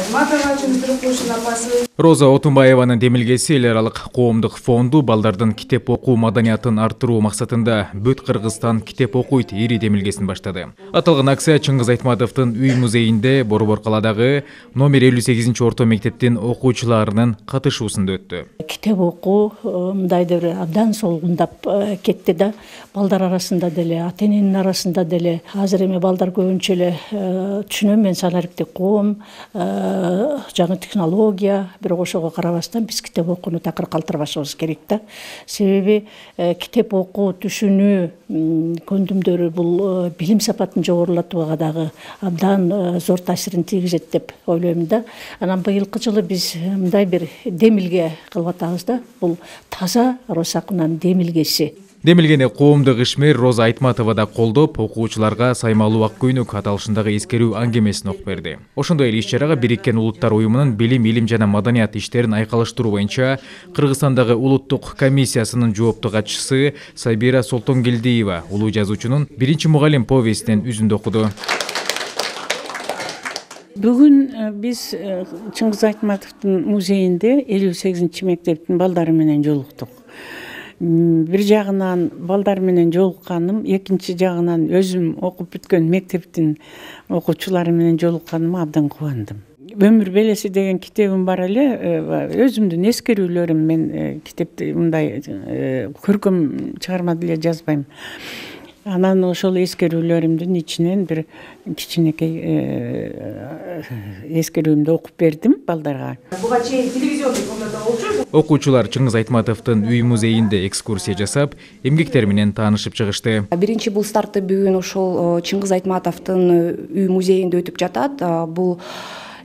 Айтматова Чындыркулушунун апасы. Роза Отунбаеванын демилгеси эл аралык коомдук фонду балдардын китеп окуу маданиятын арттыруу максатында Бүт Кыргызстан китеп окуйт ири демилгесин баштады. Аталган акция Чыңгыз Айтматовдун үй музейинде Борбор каладагы номер 58 орто мектептин окуучуларынын катышуусунда өттү. Китеп окуу мындайда бир абдан солгундап кетти да, балдар арасында деле, ата-эненин арасында деле. Азыр эми балдар көбүнчө эле түшүнөм, мен санариптик коом, жаңы технология, бирок ошого карабастан биз китеп окууну такыр калтырбашыбыз керек да. Себеби китеп окуу, түшүнүү көндүмдөрү бул билим сапатын жогорулатууга дагы абдан зор таасирин тийгизет деп ойлойм да. Анан быйылкы жылы биз мындай бир демилге кылып атабыз да. Бул таза Росакунанын демилгеси. Демилгени коомдук ишмер Роза Айтматова да колдоп, окуучуларга саймалуу ак көйнөк аталышындагы эскерүү аңгемесин окуп берди. Ошондой эле иш-чарага Бириккен Улуттар уюмунун билим, илим жана маданият иштерин айкалыштыруу боюнча Кыргызстандагы улуттук комиссиясынын жоопту катчысы Сабира Солтонгелдиева улуу жазуучунун биринчи мугалим повестинен үзүндү окуду. Бүгүн биз Чыңгыз Айтматовдун музейинде 58 мектептин балдары менен жолуктук. Бир жагынан балдар менен жолукканым, экинчи жагынан өзүм окуп бүткөн мектептин окуучулары менен жолукканыма абдан кубандым. Өмүр белеси деген китебим бар эле, өзүмдүн эскерүүлөрүм, мен китепти мындай көркөм чыгарма деле жазбайм. Анан ошол эскерүүлөрүмдүн ичинен бир кичинекей эскерүүмдү окуп бердим балдарга. Буга чейин телевизиондук форматта болчу. Окуучулар Чыңгыз Айтматовдун үй музейинде экскурсия жасап, эмгектер менен таанышып чыгышты. Биринчи бул старты бүгүн ошол Чыңгыз Айтматовдун үй музейинде өтүп жатат. Бул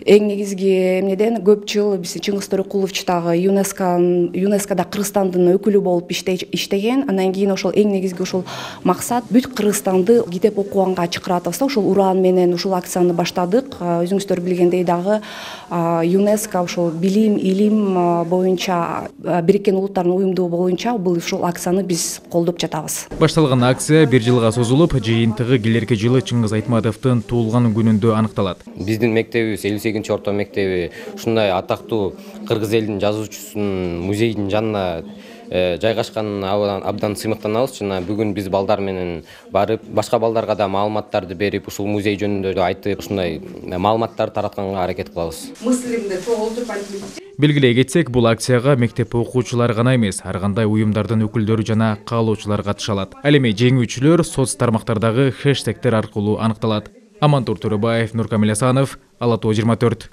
эң негизги эмнеден көп жыл биз Чыңгыз Төрөкулович дагы ЮНЕСКОда Кыргызстандын өкүлү болуп иштеген. Андан кийин ошол эң негизги ошол максат бүт Кыргызстанды китеп окуганга чакыратабыз да. Ошол ураан менен ушул акцияны баштадык. Өзүңүздөр билгендей дагы ЮНЕСКО ошол билим, илим боюнча Бириккен Улуттардын уюмдугу боюнча бул ушул акцияны биз колдоп жатабыз. Башталган акция бир жылга созулуп, жыйынтыгы келерки жылы Чыңгыз Айтматовдун туулган күнүндө аныкталат. Биздин мектебибиз 58 орто мектеби ушундай атактуу кыргыз элинин жазуучусунун музейдин жанына жайгашканын абдан сыймыктанабыз. Жана бүгүн биз балдар менен барып, башка балдарга да маалыматтарды берип, ушул музей жөнүндө айтып, ушундай маалыматтарды таратканга аракет кылабыз. Мыслимди чогултуп айтып. Белгилей кетсек, бул акцияга мектеп окуучулары гана эмес, ар кандай уюмдардын өкүлдөрү жана каалоочулар катыша алат. Ал эми жеңүүчүлөр соц тармактардагы хэштегтер аркылуу аныкталат. Амантур Төрөбаев, Нуркамил Асанов, Ала Тоо 24.